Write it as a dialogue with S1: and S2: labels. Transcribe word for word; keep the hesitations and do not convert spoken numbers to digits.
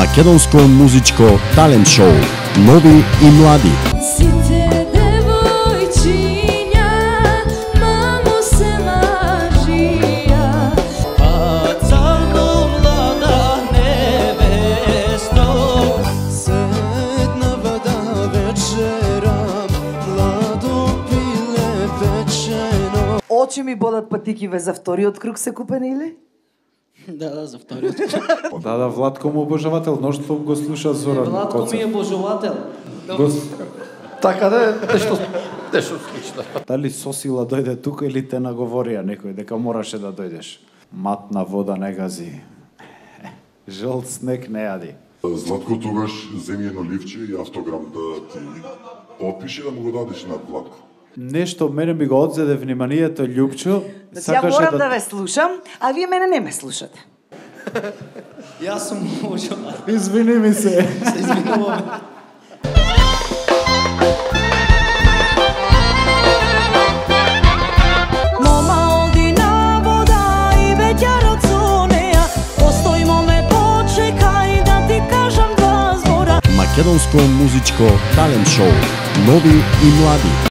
S1: Македонско музичко талент шоу Нови и млади.
S2: Сите девојчиња мамо се мажија.
S3: А црно млада невесто, седнава да вечерам, младо пиле печено.
S4: Очи ми бодат патикиве за вториот круг се купени или?
S3: Да, да, за вториот.
S5: Да, да, Владко му обожавател, ноштво го слуша Зоран
S3: Владко
S5: Коцев.
S3: ми е божувател.
S5: Гос...
S6: Така да, нешто, нешто слично.
S5: Дали сосила дојде тука или те наговорија некој дека мораше да дојдеш? Матна вода не гази. Жолт снег не јади.
S7: Златко, тогаш земи едно ливче и автограм да ти подпише да му го дадеш на Владко.
S5: Нешто мене ми го одзеде вниманието Љупчо.
S4: Значи ја морам да ве слушам, а вие мене не ме слушате.
S3: Јас сум божувател.
S5: Извини ми се.
S3: Се извинувам.
S2: Мома оди на вода и веќарот со неа. Постојмо ме почекај да ти кажам два збора.
S1: Македонско музичко талент шоу Нови и млади.